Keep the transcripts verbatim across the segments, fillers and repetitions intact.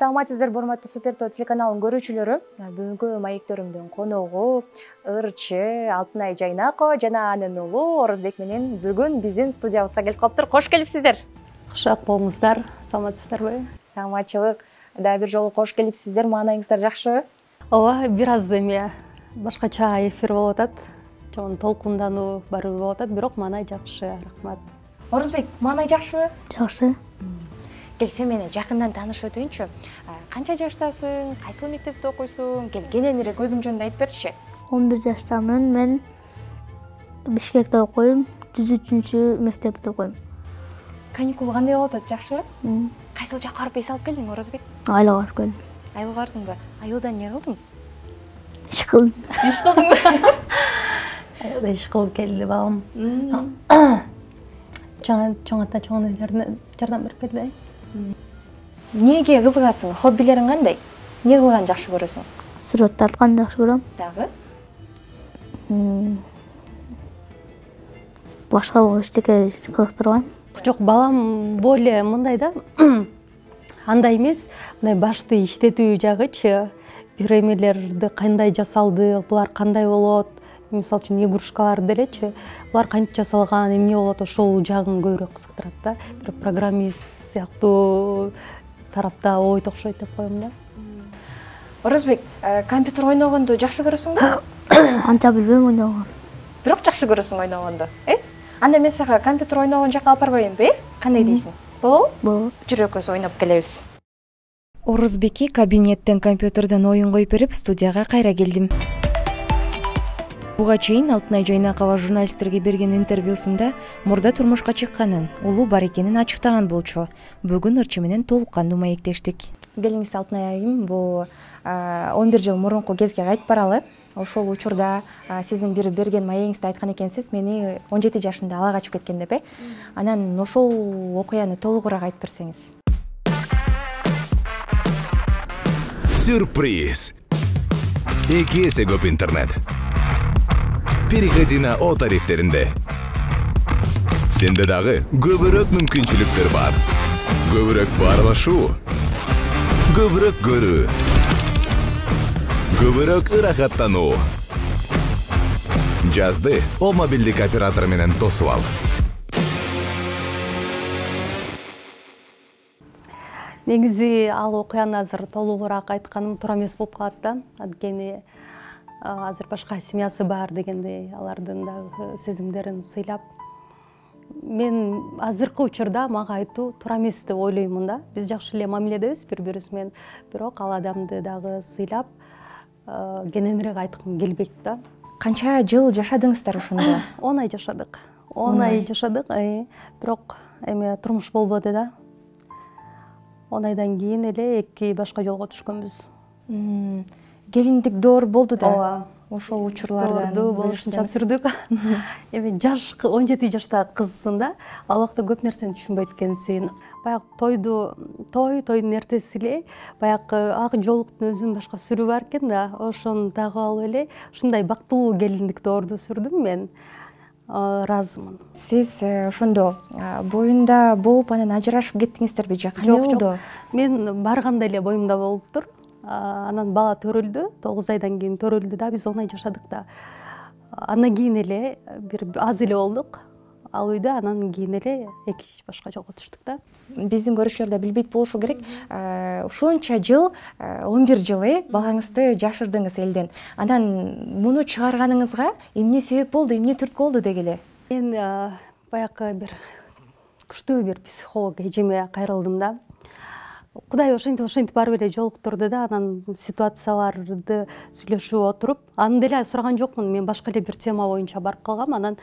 Саламатсыздар, урматтуу Супер То телеканалынын көрүүчүлөрү. Бүгүнкү маектөрүмдүн коногу ырчы Алтынай Жайнакова жана анын уулу Орозбек менен бүгүн биздин студиябызга келип калыптыр. Кош келипсиздер. Кошок болуңуздар. Саламатсыздарбы? Саламатчылык. Да бир жолу кош келипсиздер. Маанайыңыздар жакшыбы? Ооба, бир аз эме башкача эфир болуп атат. Жон толкундануу барыбыр болуп атат, бирок маанай жакшы. Рахмат. Орозбек, маанай жакшыбы? Жакшы. Кел, сен менен жакындан таанышып өтөйүнчү. Канча жаштасың? Кайсыл мектепте окуйсуң? Кел, кененирээк өзүң жөнүндө айтып берчи. он бир жаштамын. Мен Бишкекте окуйм. жүз үчүнчү мектепте окуйм. Каникул кандай болуп атат, жакшыбы? Кайсыл жакка барып эс алып келдиң, Орозбек? Айылга барып келдим. Айылга бардыңбы? Айылда эмне кылдың? Иш кылдым. Иш кылдыңбы? Айылда иш кылып келди балам. Чоң чоң ата чоң энелерине жардам берип келди. Эмнеге кызыгасың? Хоббилериң кандай? Эмне кылганды жакшы көрөсүң? Сүрөт тартканды жакшы көрөм. Дагы? Башка эчтеке кызыктырбайм. Жок, балам более мындай да. Андай эмес, мындай башты иштетүү жагычы, бир эмелерди кандай жасалды, булар кандай болот, мисалы үчүн игрушкалар делечи, булар кантип жасалган, эмне болот, ошол жагын көбүрөөк кызыктырат да. Бир программист сыяктуу тарапта ойт окшойт деп коем да. Орозбек, компьютер ойногонду жакшы көрөсүңбү? Анча билбейм ойногонду. Бирок жакшы көрөсүң ойногонду, э? Анда мен сага компьютер ойногон жакка алып барбайбынбы, э? Кандай дейсиң? Болобу? Болот. Жүрү экөөбүз ойноп келебиз. Орозбекке кабинеттен компьютерден оюн коюп берип, студияга кайра келдим. Буга чейин Алтынай Жайнакова журналисттерге берген интервьюсунда мурда турмушка чыкканын, уулу бар экенин ачыктаган болчу. Бүгүн ырчы менен толук кандуу маектештик. Келиңиз, Алтынай айым, бул он бир жыл мурунку кезге кайтып баралы. Ошол учурда сиздин бир берген маегиңизде айткан экенсиз, мени он жети жашымда ала качып кеткен деп, э? Анан ошол окуяны толугураак айтып берсеңиз. Сюрприз. эки эсе көп интернет. Переходи на О тарифтеринде. Сенде дагы көбүрөөк мүмкүнчүлүктөр бар. Көбүрөөк баарлашуу. Көбүрөөк көрүү. Көбүрөөк ырахаттануу. Жазды О мобилдик оператор менен тосуп ал. Негизи ал окуяны азыр толугураак айтканым туура эмес болуп калат да. Анткени азыр башка семьясы бар дегендей, алардын дагы сезимдерин сыйлап, мен азыркы учурда мага айтуу туура эмес деп ойлоймун да. Биз жакшы эле мамиледебиз бири-бирибиз менен, бирок ал адамды дагы сыйлап, кененирээк айткым келбейт да. Канча жыл жашадыңыздар ошондо? он ай жашадык. он ай жашадык, бирок эме турмуш болбоду да. он айдан кийин эле эки башка жолго түшкөнбүз. Келиндик доор болду да. Ооба. Ошол учурлардан болушунча сүрдүк. Эми жаш он жети жаштагы кызсың да, ал убакта көп нерсени түшүнбөйт экенсиң. Баягы тойду, той, тойдун эртеси эле баягы ак жоолуктун өзүнүн башка сүрү бар экен да, ошону тагып алып эле ушундай бактылуу келиндик доорду сүрдүм мен. Ыраазымын. Сиз ошондо боюнда болуп анан ажырашып кеттиңиздерби же кандай болду? Мен барганда эле боюмда болуптур. Анан бала төрөлдү, тогуз айдан кийин төрөлдү да, биз он ай жашадык да. Андан кийин эле бир аз эле болдук ал үйдө, анан кийин эле эки башка жолго түштүк да. Биздин көрүүчүлөр да билбейт болушу керек. Ушунча жыл, он бир жыл э, балаңызды жашырдыңыз элден. Анан муну чыгарганыңызга эмне себеп болду, эмне түрткү болду дегиле? Мен баягы бир күчтүү бир психолог эжеме кайрылдым да. Кудай ошентип ошентип барып эле жолуктурду да, анан ситуацияларды сүйлөшүп отуруп, аны деле сураган жокмун, мен башка эле бир тема боюнча барып калгам. Анан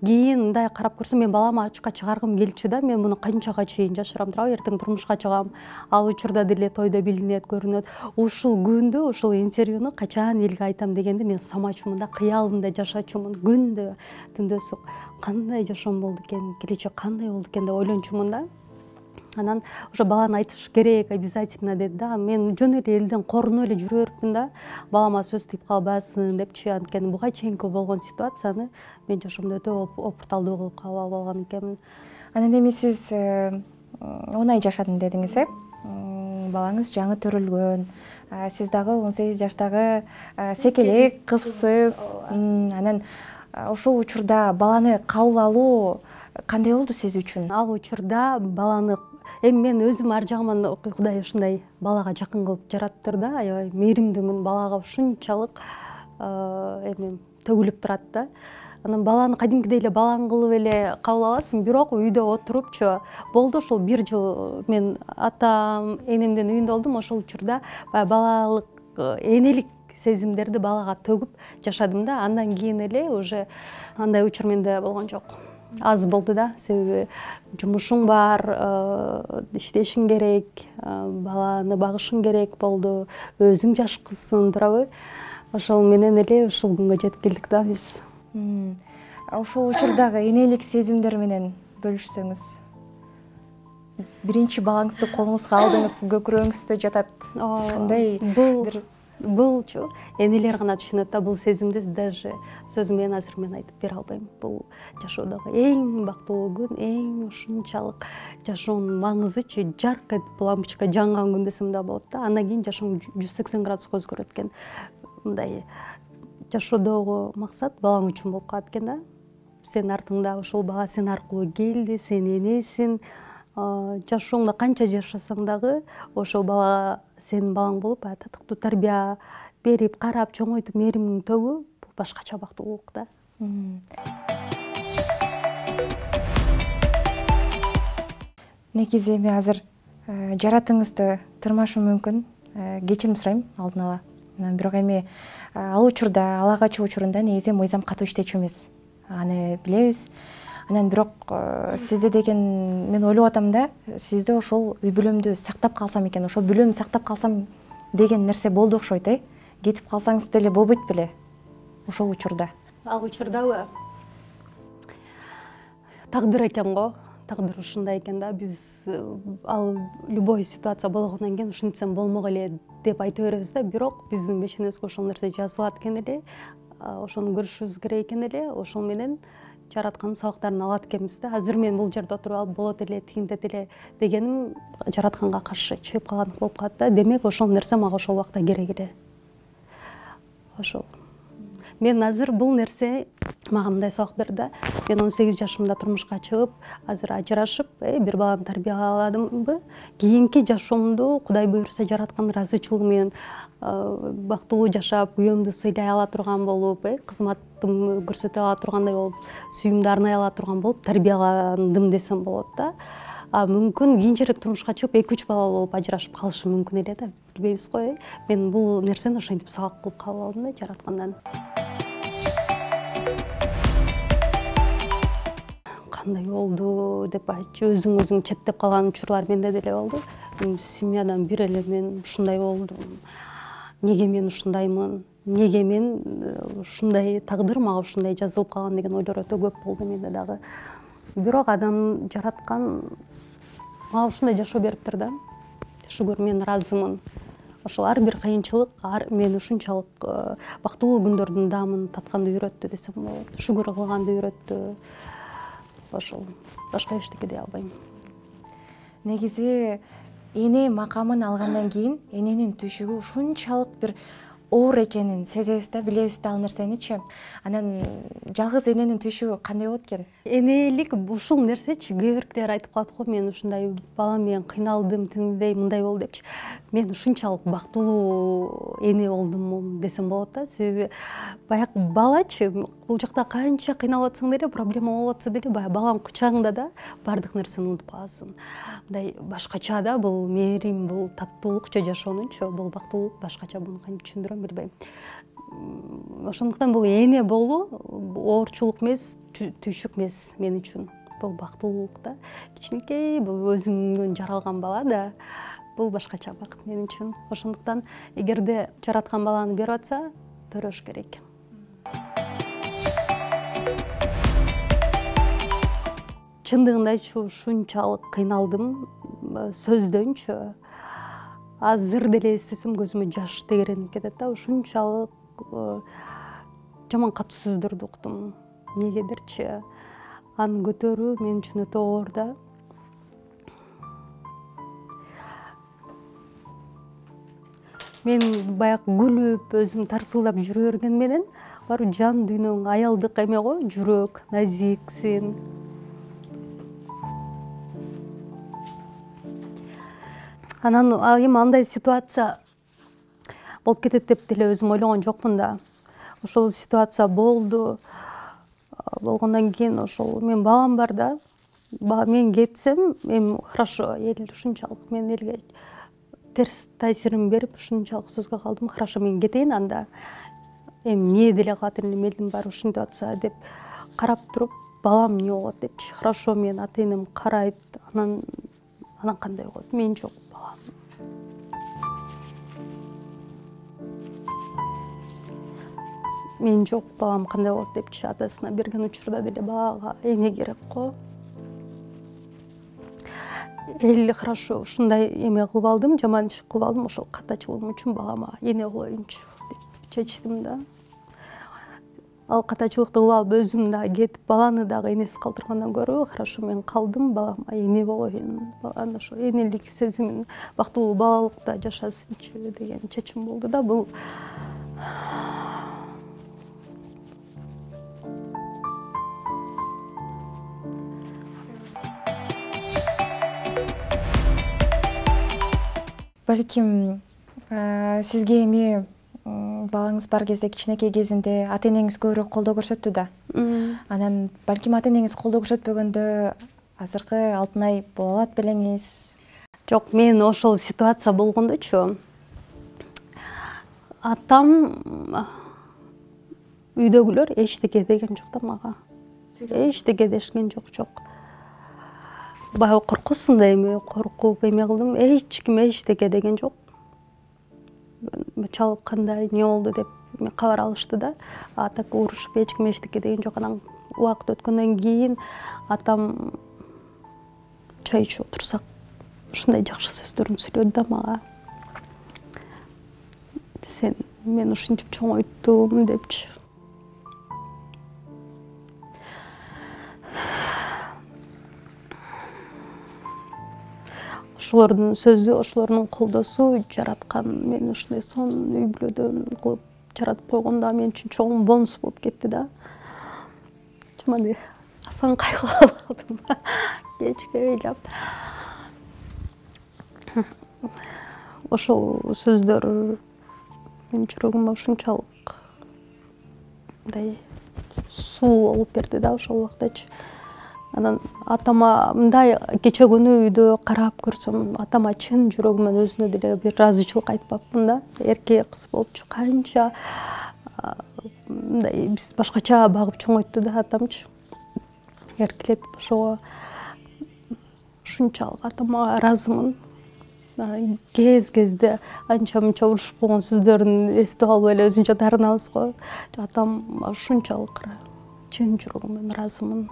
кийин мындай карап көрсөм, мен баламы ачыкка чыгаргым келчү да, мен муну канчага чейин жашырам, туурабы, эртең турмушка чыгам, ал учурда деле тойдо билинет, көрүнөт. Ушул күндү, ушул интервьюну качан элге айтам дегенди мен самачумун да, кыялымда жашачумун, күндө, түндө сук. Кандай жашоом болду экен, келечек кандай болду экен деп ойлончумун да. Анан ошо баланы айтыш керек обязательно деди да. Мен жөн эле элден корунуп эле жүрө берипмин да. Балама сөз тийип калбасын депчи, анткени буга чейинки болгон ситуацияны мен жашоомдо өтө опурталдуу кылып калып алган экенмин. Анан эми сиз он ай жашадым дедиңиз, э? балаңыз жаңы төрөлгөн, сиз дагы он сегиз жаштагы секелек кызсыз. Анан ошол учурда баланы кабыл алуу кандай болду сиз үчүн? Ал учурда баланы эми мен өзүм ар жагыман Кудай ушундай балага жакын кылып жараттыр да, аябай мээримдүүмүн, балага ушунчалык эми төгүлүп турат да. Анан баланы кадимкидей эле балаң кылып эле кабыл аласың, бирок үйдө отурупчу болду ошол бир жыл мен атам, энемдин үйүндө болдум. Ошол учурда баягы балалык энелик сезимдерди балага төгүп жашадым да. Андан кийин эле уже андай учур менде болгон жок. Аз болду да, себеби жумушуң бар, иштешиң керек, баланы багышың керек болду, өзүң жаш кызсың, туурабы? Ошол менен эле ушул күнгө жетип келдик да биз. Ошол учурдагы энелик сезимдер менен бөлүшсөңүз. Биринчи балаңызды колуңузга алдыңыз, көкүрөгүңүздө жатат. Кандай бир булчу энелер гана түшүнөт да бул сезимди, даже сөз менен азыр мен айтып бере албайм. Бул жашоодогу эң бактылуу күн, эң ушунчалык жашоонун маңызычы жарк этип лампочка жанган күн десем да болот да. Андан кийин жашооң жүз сексен градуска өзгөрөт экен. Мындай жашоодогу максат балаң үчүн болуп калат экен да. Сен артыңда ошол бала сен аркылуу келди, сен энесиң. Жашооңдо канча жашасаң дагы ошол бала сенин балаң болуп, татыктуу тарбия берип, карап, чоңойтуп, мээримиң төгүү бул башкача бактылуулук да. Негизи эми азыр жаратыңызды тырмашым мүмкүн, кечирим сурайм алдын ала. Бирок эми ал учурда, ала качуу учурунда негизи мыйзам катуу иштечү эмес. Аны билебиз. Анан бирок сизде деген мен ойлоп атам да, сизде ошол үй бүлөмдү сактап калсам экен, ошол бүлөмдү сактап калсам деген нерсе болду окшойт, э? Кетип калсаңыз деле болбойт беле ошол учурда? Ал учурдабы? Тагдыр экен го. Тагдыр ушундай экен да. Биз ал любой ситуация болгондон кийин ушинтсем болмок эле деп айта беребиз да, бирок биздин бешенебизге ошол нерсе жазылат экен эле. Ошону көрүшүбүз керек экен эле. Ошол менен жараткандын сабактарын алат экенбиз да. Азыр мен бул жерде отуруп алып болот эле, тигинтет эле дегеним жаратканга каршы чыгып калгандык болуп калат да. Демек ошол нерсе мага ошол убакта керек эле. Ошол. Мен азыр бул нерсе мага мындай сабак берди да. Мен он сегиз жашымда турмушка чыгып, азыр ажырашып, бир баланы тарбияладымбы? Кийинки жашоомду Кудай буйруса жараткан ыраазычылыгы менен бактылуу жашап, күйөөмдү сыйлай ала турган болуп, кызматымды көрсөтө ала тургандай болуп, сүйүүмдү арнай ала турган болуп тарбияландым десем болот да. А мүмкүн кийинчерээк турмушка чыгып эки үч балалуу болуп ажырашып калышым мүмкүн эле да. Билбейбиз го. Мен бул нерсени ошентип сабак кылып кабыл алдым да жараткандан. Кандай болду деп айтчу, өзүң өзүң четтеп калган учурлар менде деле болду. Семьядан бир эле мен ушундай болдум. Неге мен ушундаймын? Неге мен ушундай тагдыр мага ушундай жазылып калган деген ойлор өтө көп болду менде дагы. Бирок адам жараткан мага ушундай жашоо бериптир да. Шүгүр, мен ыраазымын. Ошол ар бир кыйынчылык мени ушунчалык бактылуу күндөрдүн даамын татканды үйрөттү десем болот. Шүгүр кылганды үйрөттү. Ошол. Башка эчтеке дей албайм. Негизи эне макамын алгандан кийин эненин түйшүгү ушунчалык бир оор экенин сезебиз да, билебиз да ал нерсеничи. Анан жалгыз эненин түйшүгү кандай болот экен? Энелик ушул нерсечи кээ биркилер айтып калат го, мен ушундай балам менен кыйналдым, тиндей, мындай болду депчи. Мен ушунчалык бактылуу эне болдум десем болот да, себеби баягы балачы бул жакта канча кыйналып атсаң деле, проблема болуп атса деле, баягы балаң кучагыңда да баардык нерсени унутуп каласың. Мындай башкача да, бул мээрим, бул таттуулукчу жашоонунчу, бул бактылуулук башкача, буну кантип түшүндүрөм билбейм. Ошондуктан бул эне болуу оорчулук эмес, түйшүк эмес мен үчүн. Бул бактылуулук да. Кичинекей бул өзүңдөн жаралган бала да, бул башкача бакыт мен үчүн. Ошондуктан эгерде жараткан баланы берип атса, төрөш керек. Чындыгындачы ушунчалык кыйналдым сөздөнчү. Азыр деле эстесем көзүмө жаш тегеренип кетет да, ушунчалык жаман катуу сөздөрдү уктум. Негедирчи аны көтөрүү мен үчүн өтө оор да. мен баягы күлүп өзүм тарсылдап жүрө берген менен барыбир жан дүйнөң аялдык эме го, жүрөк назиксин. Анан эми андай ситуация болуп кетет деп деле өзүм ойлогон жокмун да. Ошол ситуация болду. Болгондон кийин ошол мен балам бар да. Мен кетсем, эми хорошо, эл ушунчалык мен элге терс таасирин берип ушунчалык сөзгө калдым. Хорошо, мен кетейин анда. Эми эмне деле кылат элем, элдин баары ушинтип атса деп карап туруп, балам эмне болот депчи. Хорошо, мен ата-энем карайт. Анан анан кандай болот? Мен жок, балам. Мен жок, балам кандай болот депчи. Атасына берген учурда деле балага эне керек го. Эл хорошо, ушундай эме кылып алдым, жаман иш кылып алдым, ошол катачылыгым үчүн балама эне кылоюнчу деп чечтим да. Ал катачылыкты кылып алып өзүм да кетип, баланы дагы энесиз калтыргандан көрө, хорошо, мен калдым, балама эне болоюн, баланын ошо энелик сезимин бактылуу балалыкта жашасынчы деген чечим болду да. Бул балким сизге эми балаңыз бар кезде, кичинекей кезинде ата-энеңиз көбүрөөк колдоо көрсөттү да. Анан балким ата-энеңиз колдоо көрсөтпөгөндө азыркы Алтынай боло алат белеңиз? Жок, мен ошол ситуация болгондочу атам үйдөгүлөр эчтеке деген жок да мага. Эчтеке дешкен жок, жок. Баягы коркусундай эме, коркуп эме кылдым, эч ким эчтеке деген жок. Чалып кандай, эмне болду деп кабар алышты да. А так урушуп эч ким эчтеке деген жок. Анан убакыт өткөндөн кийин атам чай ичип отурсак ушундай жакшы сөздөрүн сүйлөдү да мага. Сен мен ушинтип чоңойттум депчи. Ошолордун сөзү, ошолордун колдосу жараткан мени ушундай сонун үй бүлөдөн кылып жаратып койгондо мен үчүн чоң бонус болуп кетти да. Чаманы асан кайгылап калдым кечке ыйлап. Ошол сөздөр менин жүрөгүмө ушунчалык мындай суу болуп берди да ошол убактачы. Анан атама мындай кече күнү үйдө карап көрсөм, атама чын жүрөгүмөн өзүнө деле бир ыраазычылык айтпапмын да. Эрке кыз болчу, канча мындай биз башкача багып чоңойтту да атамчы. Эркелеп ошого ушунчалык атама ыраазымын. Кез-кезде анча-мынча урушуп койгон сөздөрүн эстеп алып эле өзүнчө таарынабыз го. Атам ушунчалык чын жүрөгүмөн ыраазымын.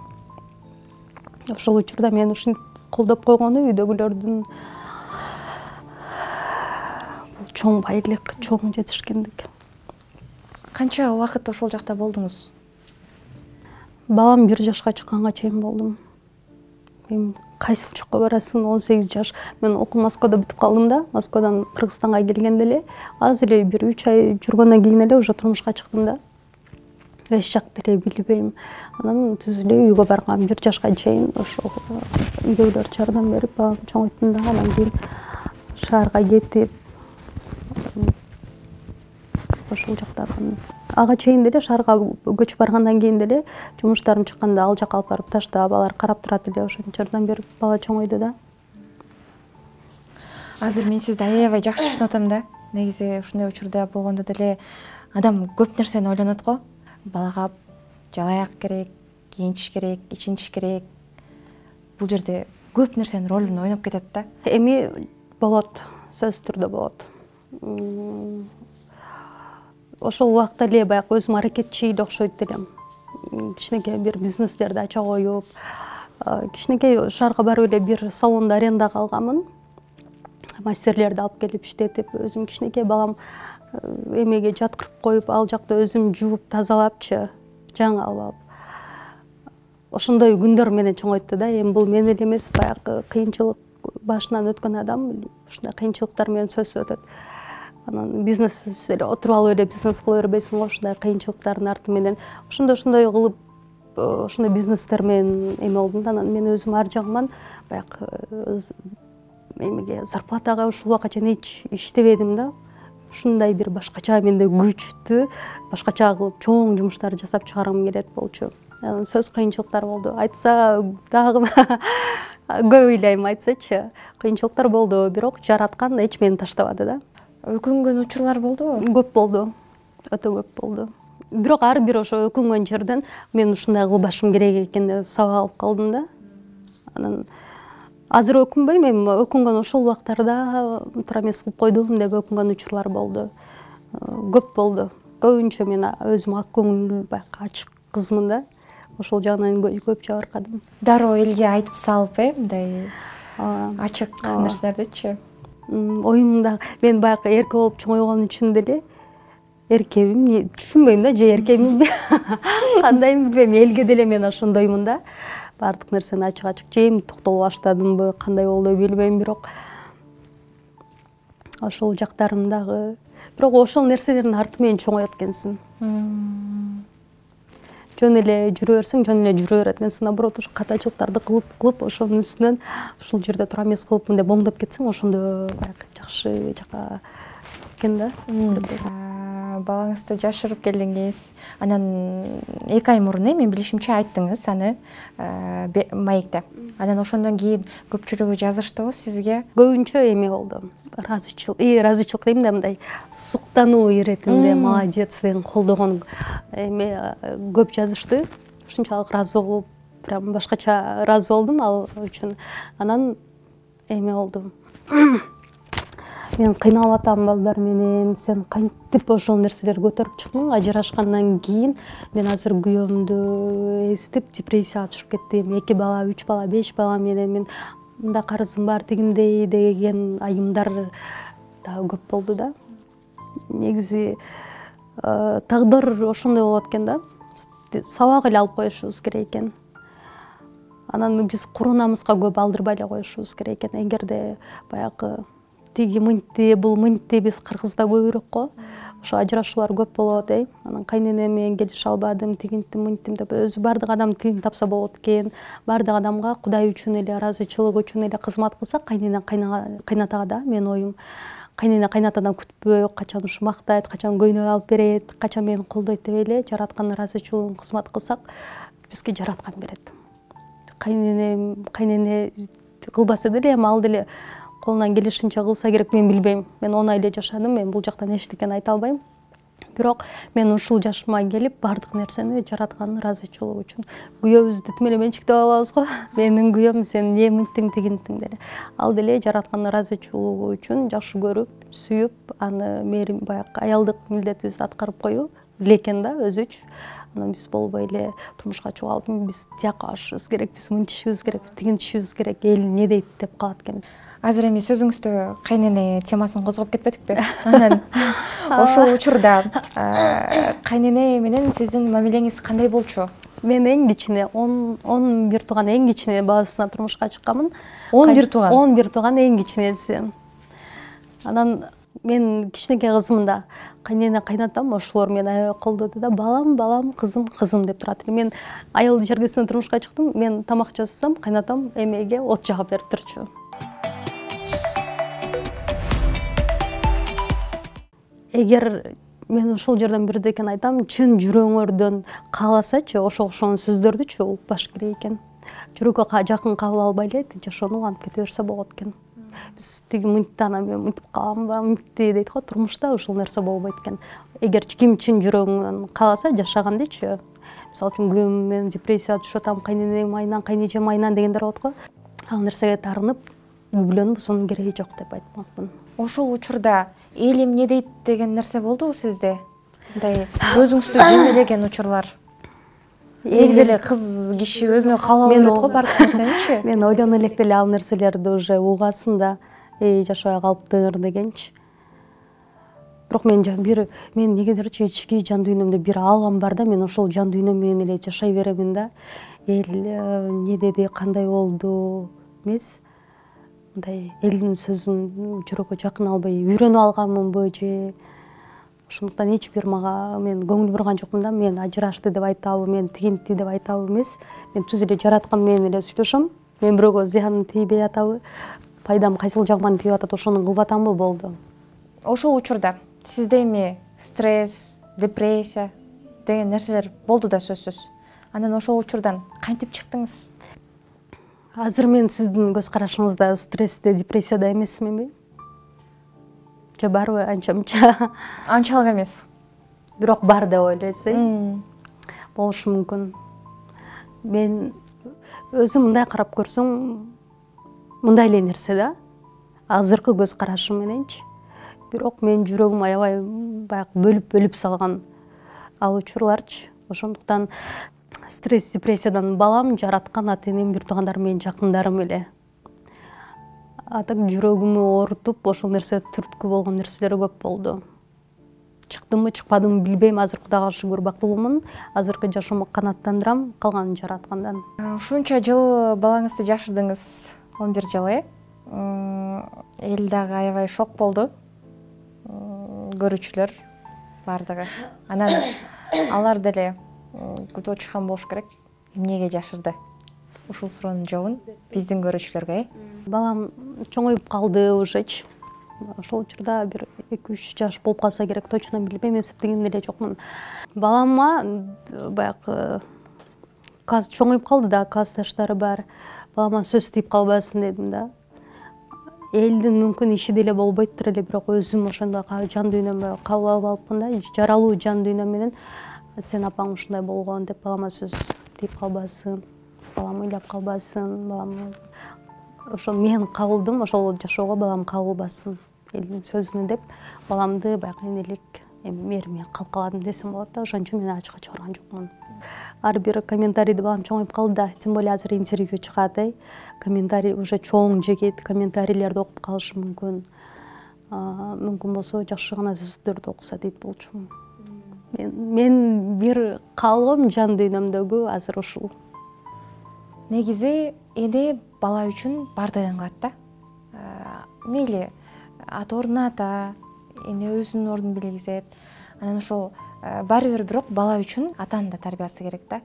Ошол учурда мени ушинтип колдоп койгону үйдөгүлөрдүн бул чоң байлык, чоң жетишкендик. Канча убакыт ошол жакта болдуңуз? Балам бир жашка чыкканга чейин болдум. Мен кайсыл жакка барасың? он сегиз жаш. Мен окуум Москвада бүтүп калдым да. Москвадан Кыргызстанга келгенде эле азыр эле бир үч ай жүргөндөн кийин эле уже турмушка чыктым да. Эч жакты эле билбейм. Анан түз эле үйгө баргам. бир жашка чейин ошол үйдөгүлөр жардам берип баламды чоңойттум да. Анан кийин шаарга кетип ошол жактагы ага чейин деле шаарга көчүп баргандан кийин деле жумуштарым чыкканда ал жакка алып барып таштап, алар карап турат эле, ошентип жардам берип бала чоңойду да. Азыр мен сизди аябай жакшы түшүнүп атам да. Негизи ушундай учурда болгондо деле адам көп нерсени ойлонот го. Балага жалаяк керек, кийинтиш керек, ичинтиш керек. Бул жерде көп нерсенин ролун ойноп кетет да. Эми болот, сөзсүз түрдө болот. Ошол убакта эле баягы өзүм аракетчи эле окшойт элем. Кичинекей бир бизнестерди ача коюп, кичинекей шаарга барып эле бир салонду арендага алганмын. Мастерлерди алып келип иштетип, өзүм кичинекей балам эмеге жаткырып коюп, ал жакта өзүм жууп, тазалапчы, жаңы алып алып. Ошондой күндөр менен чоңойтту да. Эми бул мен эле эмес, баягы кыйынчылык башынан өткөн адам ушундай кыйынчылыктар менен сөзсүз өтөт. анан бизнес эле отуруп алып эле бизнес кыла бербейсиңго, ушундай кыйынчылыктардын арты менен ошондой ошондой кылып ошондой бизнестер менен эме болдум да. Анан мен өзүм ар жагыман баягы эмеге зарплатага ушул убакка чейин эч иштебедим да. Ушундай бир башкача менде күчтүү, башкача кылып чоң жумуштарды жасап чыгаргым келет болчу. Сөз кыйынчылыктар болду. Айтса дагы көп ыйлайм, айтсачы. Кыйынчылыктар болду, бирок жараткан эч мени таштабады да. Өкүнгөн учурлар болдубу? Көп болду. Өтө көп болду. Бирок ар бир ошо өкүнгөн жерден мен ушундай кылбашым керек экен деп сабак алып калдым да. Анан азыр өкүнбөйм, эми өкүнгөн ошол убактарда туура эмес кылып койдум деп өкүнгөн учурлар болду. Көп болду. Көбүнчө мен өзүм ак көңүл, баягы ачык кызмын да. Ошол жагынан көп жабыркадым. Дароо элге айтып салып, э, мындай ачык нерселердичи? Оюмда мен баягы эрке болуп чоңойгон үчүн деле эркебим, түшүнбөйм да, же эркебимби, кандайым билбейм, элге деле мен ошондоймун да. Бардык нерсени ачык-ачык жейм, токтолуп баштадымбы, кандай болду билбейм, бирок ошол жактарым дагы, бирок ошол нерселердин арты менен чоңоет экенсиң. Жөн эле жүрө берсең, жөн эле жүрө берет экенсиң. Наоборот, ошо катачылыктарды кылып, кылып, ошонун үстүнөн ушул жерде туура эмес кылыпмын деп оңдоп кетсең, ошондо баягы жакшы жака экен да. Балаңызды жашырып келдиңиз. Анан эки ай мурун, мен билишимче айттыңыз аны маекте. Анан ошондон кийин көпчүлүгү жазыштыбы сизге? Көбүнчө эме болду. Разычылык, и разычылык дейм да, мындай суктануу иретинде молодец деген колдогон эме көп жазышты. Ушунчалык ыраазы болуп, прям башкача ыраазы болдум ал үчүн. Анан эме болду. Мен кыйналып атам балдар менен, сен кантип ошол нерселерди көтөрүп чыктың? Ажырашкандан кийин мен азыр күйөөмдү эстеп депрессияга түшүп кеттим. Эки бала, үч бала, беш бала менен мен мында карызым бар, тигиндей деген айымдар да көп болду да. Негизи тагдыр ошондой болот экен да. Сабак эле алып коюшубуз керек экен. Анан биз курунамызга көп алдырбай эле коюшубуз керек экен. Эгерде баягы тиги мынтти, бул мынтти, биз кыргызда көбүрөөк го. Ошо ажырашуулар көп болот, э. Анан кайненем менен келише албадым, тигинтим, мынтим деп өзү бардык адам тилин тапса болот экен. Бардык адамга Кудай үчүн эле, ыраазычылык үчүн эле кызмат кылса, кайнене кайнатага да, менин оюм. Кайнене кайнатадан күтпөй, качан ушу мактайт, качан көйнөк алып берет, качан мени колдойт деп эле жараткан ыраазычылыгын кызмат кылсак, бизге жараткан берет. Кайнене, кайнене кылбаса деле, эми ал деле колунан келишинче кылса керек, мен билбейм. Мен он ай эле жашадым, мен бул жактан эчтекени айта албайм. Бирок мен ушул жашыма келип бардык нерсени жараткан ыраазычылык үчүн күйөөбүздү тим эле менчиктеп алабыз го. Менин күйөөм, сен эмне мынтиң тигинтиң деле. Ал деле жараткан ыраазычылыгы үчүн жакшы көрүп, сүйүп, аны мээрим баягы аялдык милдетибизди аткарып коюу экен да өзүчү. Анан биз болбой эле турмушка чыгып алып, биз тияка барышыбыз керек, биз мынтишибиз керек, тигинтишибиз керек, эл эмне дейт деп калат экенбиз. Азыр эми сөзүңүздө кайнене темасын козгоп кетпедикпи? Анан ошол учурда кайнене менен сиздин мамилеңиз кандай болчу? Мен эң кичине он бир тууган эң кичине баласына турмушка чыкканмын. он бир тууган? он бир тууган эң кичинеси. Анан мен кичинекей кызмын да. Кайнене кайнатам, ошолор мени аябай колдоду да, балам, балам, кызым, кызым деп турат. Мен аялды жергесинен турмушка чыктым, мен тамак жасасам, кайнатам эмеге от жагып берип турчу. Эгер мен ошол жерден бирдекени айтам, чын жүрөгүңөрдөн кааласачы, ошо ошонун сөздөрдүчү укпаш керек экен. Жүрөккө жакын кабыл албай эле жашоону антып кете берсе болот экен. Биз тиги мынтти, анан мен мынтип каламбы, мынтти дейт го, турмушта ушул нерсе болбойт экен. Эгер ким чын жүрөгүнөн кааласа жашаган дечи. Мисалы үчүн күйөөм менен депрессияга түшүп атам, кайненем айынан, кайнежем айынан дегендер болот го. Ал нерсеге тарынып, үйлөнүп, сонун кереги жок деп айтмакмын. Ошол учурда эл эмне дейт деген нерсе болдубу сизде? Мындай өзүңүздү жемелеген учурлар. Негизи эле кыз киши өзүнө кабыл ала берет го бардык нерсеничи? Мен ойлоно элек деле ал нерселерди уже угасын да, эй жашабай калыптыр дегенчи. Бирок мен бир мен негедирчи ички жан дүйнөмдө бир алгам бар да, мен ошол жан дүйнөм менен эле жашай беремин да. Эл эмне деди, кандай болду эмес. мындай элдин сөзүн жүрөгкө жакын албай үйрөнүп алганмынбы же ошондуктан эч бир мага мен көңүл бурган жокмун да. Мен ажырашты деп айтабы, мен тигинтти деп айтабы эмес. Мен түз эле жараткан менен эле сүйлөшөм. Мен бирөөгө зыяным тийбей атабы, пайдам кайсыл жагыман тийип атат, ошону кылып атамбы болду. Ошол учурда сизде эми стресс, депрессия деген нерселер болду да сөзсүз. Анан ошол учурдан кантип чыктыңыз? Азыр мен сиздин көз карашыңызда стрессте, депрессияда эмесминби? Же барбы анча-мынча? Анчалык эмес. Бирок бар деп ойлойсуз. Болушу мүмкүн. Мен өзүм мындай карап көрсөм, мындай эле нерсе да. Азыркы көз карашым мененчи. Бирок менин жүрөгүм аябай баягы бөлүп-бөлүп салган ал учурларчы. Ошондуктан стресс, депрессиядан балам, жараткан ата энем, бир туугандарым, менин жакындарым эле. Атак жүрөгүмү оорутуп, ошол нерсе түрткү болгон нерселер көп болду. Чыктымбы, чыкпадымбы билбейм. Азыр Кудайга шүгүр бактылуумун. Азыркы жашоомо канааттандырам, калганын жараткандан. Ушунча жыл балаңызды жашырдыңыз, он бир жыл, э? Эл дагы аябай шок болду. Көрүүчүлөр бардыгы. Анан алар деле күтүп отурушкан болуш керек. Эмнеге жашырды? Ушул суроонун жообун биздин көрүүчүлөргө, э? Балам чоңоюп калды уже. Ошол учурда бир эки үч жаш болуп калса керек, точно билбейм, эсептеген эле жокмун. Балама баягы класс чоңоюп калды да, классташтары бар. Балама сөз тийип калбасын дедим да. Элдин мүмкүн иши деле болбойттур эле, бирок өзүм ошондой жан дүйнөмө кабыл алып алыпмын да, жаралуу жан дүйнөм менен сен апаң ушундай болгон деп балама сөз тийип калбасын, балам ыйлап калбасын, балам ошону мен кабылдым, ошол жашоого балам кабылбасын элдин сөзүнө деп баламды баягы энелик эми мээримге калкаладым десем болот да. Ошон үчүн мен ачыкка чыгарган жокмун. Ар бир комментарийди балам чоңоюп калды да, тем более азыр интервью чыгат, э? Комментарий уже чоң жегет, комментарийлерди окуп калышы мүмкүн. Мүмкүн болсо жакшы гана сөздөрдү окуса дейт болчумун. Мен мен бир калгым жан дүйнөмдөгү азыр ушул. Негизи эне бала үчүн бардыгын кылат да. Мейли ата ордуна ата, эне өзүнүн ордун белгизет. Анан ошол баары бир бирок бала үчүн атанын да тарбиясы керек да.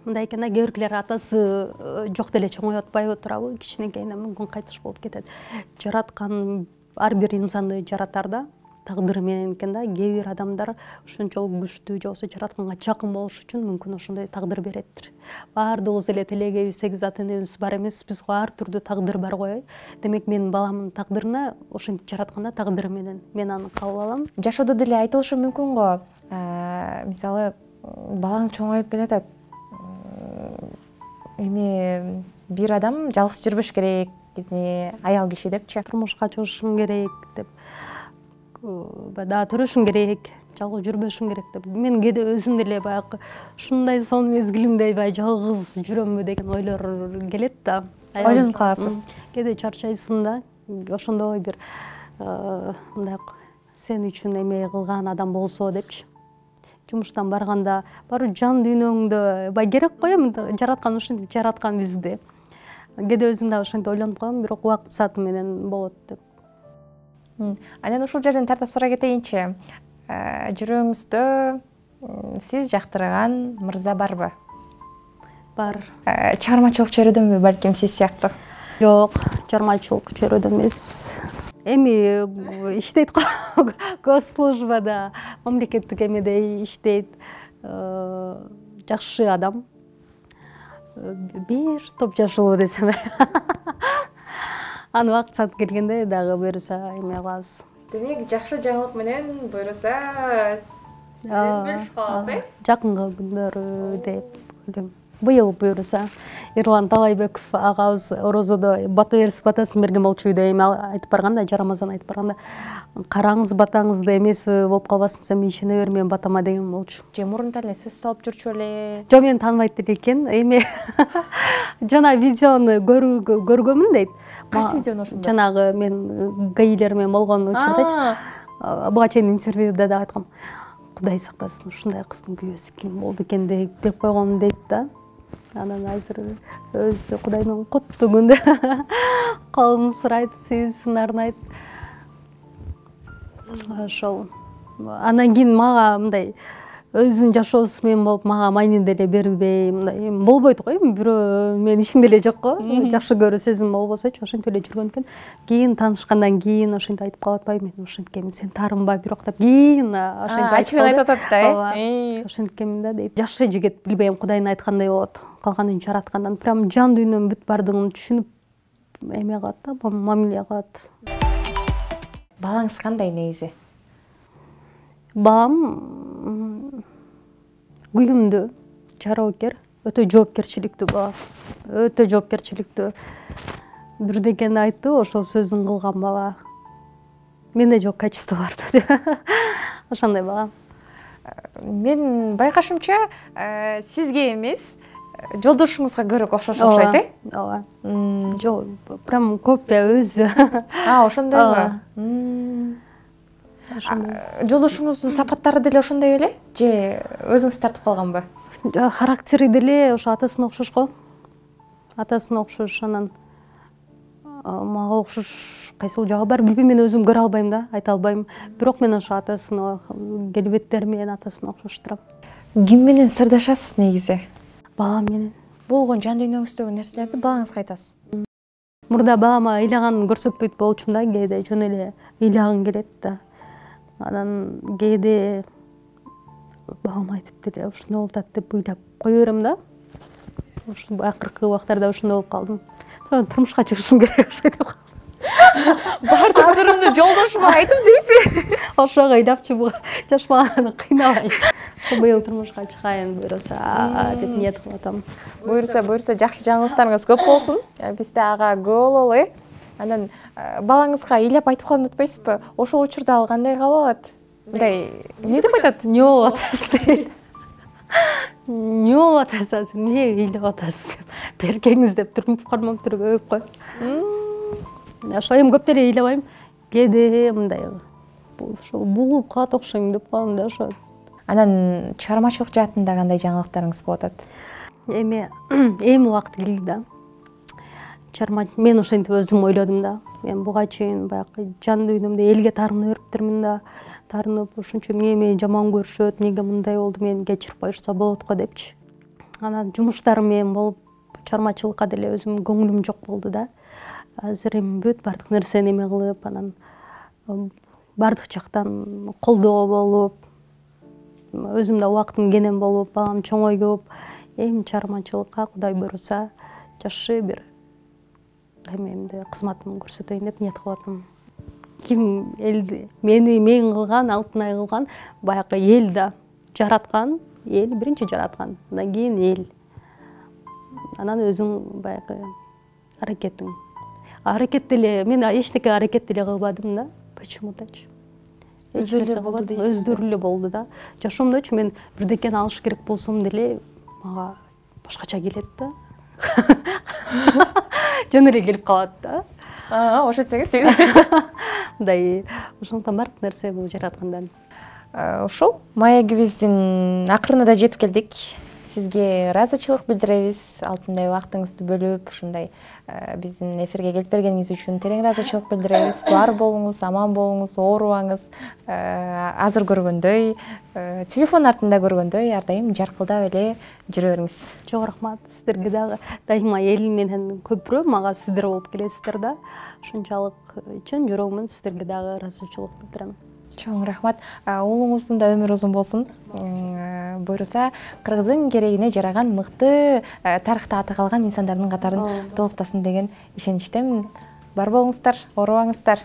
Мындай экен да, кээ биркилер атасы жок деле чоңоюп атпайбы турабы, кичинекейинен мүмкүн кайтыш болуп кетет. Жараткан ар бир инсанды жаратар да, тагдыры менен экен да. Кээ бир адамдар ошончолук күчтүү же болбосо жаратканга жакын болуш үчүн мүмкүн ошондой тагдыр береттир. Баардыгыбыз эле телегейбиз, сегиз ата энебиз бар эмес, биз ар түрдүү тагдыр бар го. Демек менин баламдын тагдырына ошентип жаратканда тагдыры менен мен аны кабыл алам. Жашоодо деле айтылышы мүмкүн го. Мисалы, балаң чоңоюп келатат. Эми бир адам жалгыз жүрбөш керек, эми аял киши депчи. Турмушка чыгышым керек деп, дагы төрөшүм керек, жалгыз жүрбөшүм керек деп. Мен кээде өзүм деле баягы ушундай сонун мезгилимде баягы жалгыз жүрөмбү деген ойлор келет да. Ойлонуп каласыз. Кээде чарчайсың да. Ошондой бир мындай сен үчүн эме кылган адам болсо депчи. Жумуштан барганда барып жан дүйнөңдө бай керек го, эми жараткан ушинтип жараткан бизди. Кээде өзүм да ошентип ойлонуп калам, бирок убакыт сааты менен болот деп. Анан ушул жерден тарта сурай кетейинчи. Жүрөгүңүздө сиз жактырган мырза барбы? Бар. Чыгармачылык чөйрөдөнбү, балким сиз сыяктуу? Жок, чыгармачылык чөйрөдө эмес. Эми иштейт го, госслужбада, мамлекеттик эмеде иштейт. Жакшы адам. Бир топ жашылуу десем. Аны убакыт саат келгенде дагы буюрса эме кылабыз. Демек, жакшы жаңылык менен буюрса бөлүшүп калабыз, э? Жакынкы күндөрү деп ойлойм. Быйыл буюрса Эрлан Талайбеков агабыз орозодо бата берип батасын берген болчу деп эми айтып барган да, Жарамазан айтып барганда, караңыз батаңызды эмеси болуп калбасын, сен ишене бер менин батама деген болчу. Же мурунтан эле сөз салып жүрчү эле? Жок, мени тааныбайт эле экен. Эми жана видеону көргөнмүн дейт. Кайсы видеону ошондо? Жанагы мен гаилер менен болгон учурдачы. Буга чейин интервьюда да айткам. Кудай сактасын, ушундай кыздын күйөөсү ким болду экен деп койгон дейт да. Анан азыр өзү Кудайдын куттуу күндө колун сурайт, сүйүүсүн арнайт. Ошол. Андан кийин мага мындай өзүнүн жашоосу менен болуп, мага майнин деле бербей, мындай болбойт го, эми бирөө менин ишим деле жок го. Жакшы көрүү сезим болбосочу, ошентип эле жүргөн экен. Кийин таанышкандан кийин ошентип айтып калып атпайбы, мен ошенткенмин, сен тарынба бирок деп. Кийин ошентип айтып ачыгын айтып атат да, э. Ошенткенмин да дейт. Жакшы жигит, билбейм, Кудайдын айткандай болот. Калганын жараткандан прям жан дүйнөм бүт бардыгын түшүнүп эме кылат да, мамиле кылат. Балаңыз кандай негизи? Балам күйүмдүү, жароокер, өтө жоопкерчиликтүү бала. Өтө жоопкерчиликтүү. Бирдекени айтты, ошол сөзүн кылган бала. Менде жок качестволор деп. Ошондой бала. Мен байкашымча, сизге эмес, жолдошуңузга көрөк окшош окшойт, э? Ооба. Жок, прям копия өзү. А, ошондойбу? Жолдошуңуздун сапаттары деле ошондой беле? Же өзүңүз тартып калганбы? Характери деле ошо атасына окшош го. Атасына окшош, анан мага окшош кайсыл жагы бар билбейм, мен өзүм көрө албайм да, айта албайм. Бирок мен ошо атасына, келбеттери менен атасына окшош турам. Ким менен сырдашасыз негизи? Балам менен. Болгон жан дүйнөңүздөгү нерселерди балаңызга айтасыз. Мурда балама ыйлаганын көрсөтпөйт болчумун да, кээде жөн эле ыйлагым келет да. Анан кээде балам айтып деле ушуну болуп атат деп ыйлап кое берем да. Ошо акыркы убактарда ушундай болуп калдым. Турмушка чыгышым керек ошо деп калдым. Бардык сырымды жолдошума айтып дейсизби? Ошого ыйлапчы жаш баланы кыйнабай. Быйыл турмушка чыгайын буюрса деп ниет кылып атам. Буюрса, буюрса жакшы жаңылыктарыңыз көп болсун. Биз да ага күбө бололу, э. Анан балаңызга ыйлап айтып калган атпайсызбы? Ошол учурда ал кандай кабыл алат? Мындай, эмне деп айтат? Не болуп атасыз? Не болуп атасыз? Эмне ыйлап атасыз деп. Беркеңиз деп турмуп кармап туруп өбүп коет. Ошол эми көп деле ыйлабайм. Кээде мындай ошол бугулуп калат окшойм деп калам да ошо. Анан чыгармачылык жаатында кандай жаңылыктарыңыз болуп атат? Эми эми убакыт келди да. Чарма мен ошентип өзүм ойлодум да. Мен буга чейин баягы жан дүйнөмдө элге таарына бериптермин да. Таарынып ушунча мени жаман көрүшөт, эмнеге мындай болду, мени кечирип коюшса болот го депчи. Анан жумуштарым менен болуп, чармачылыкка деле өзүм көңүлүм жок болду да. Азыр эми бүт бардык нерсени эме кылып, анан бардык жактан колдоо болуп, өзүм да убактым кенен болуп, балам чоңоюп, эми чармачылыкка Кудай буйруса жакшы бир эмемди, кызматымды көрсөтөйүн деп ниет кылып атам. Ким элди мени мен кылган, Алтынай кылган, баягы эл да жараткан, эл биринчи жараткан, андан кийин эл. Анан өзүң баягы аракетиң. Аракет деле мен эчтеке аракет деле кылбадым да. Почему-точу. Өздөрү болду дейсиз. Өздөрү эле болду да. Жашоомдочу мен бирдекени алыш керек болсом деле мага башкача келет да. Жөн эле келип калат да. А, ошентсеңиз. Мындай, ошондон бардык нерсе бул жараткандан. Ушул маегибиздин акырына да жетип келдик. Сизге ыраазычылык билдиребиз. Алтындай убактыңызды бөлүп, ушундай биздин эфирге келип бергениңиз үчүн терең ыраазычылык билдиребиз. Бар болуңуз, аман болуңуз, оорубаңыз. Азыр көргөндөй, телефон артында көргөндөй ар дайым жаркылдап эле жүрө бериңиз. Чоң рахмат сиздерге дагы. Дайыма элим менен көпүрө мага сиздер болуп келесиздер да. Ушунчалык чын жүрөгүмөн сиздерге дагы ыраазычылык билдирем. Чоң рахмат. Уулуңуздун да өмүрү узун болсун. Буйруса кыргыздын керегине жараган мыкты тарыхта аты калган инсандардын катарын толуктасын деген ишеничтемин. Бар болуңуздар, оорубаңыздар.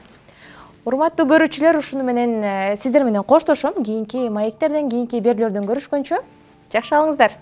Урматтуу көрүүчүлөр, ушуну менен сиздер менен коштошом. Кийинки маектерден, кийинки берүүлөрдөн көрүшкөнчө жакшы алыңыздар.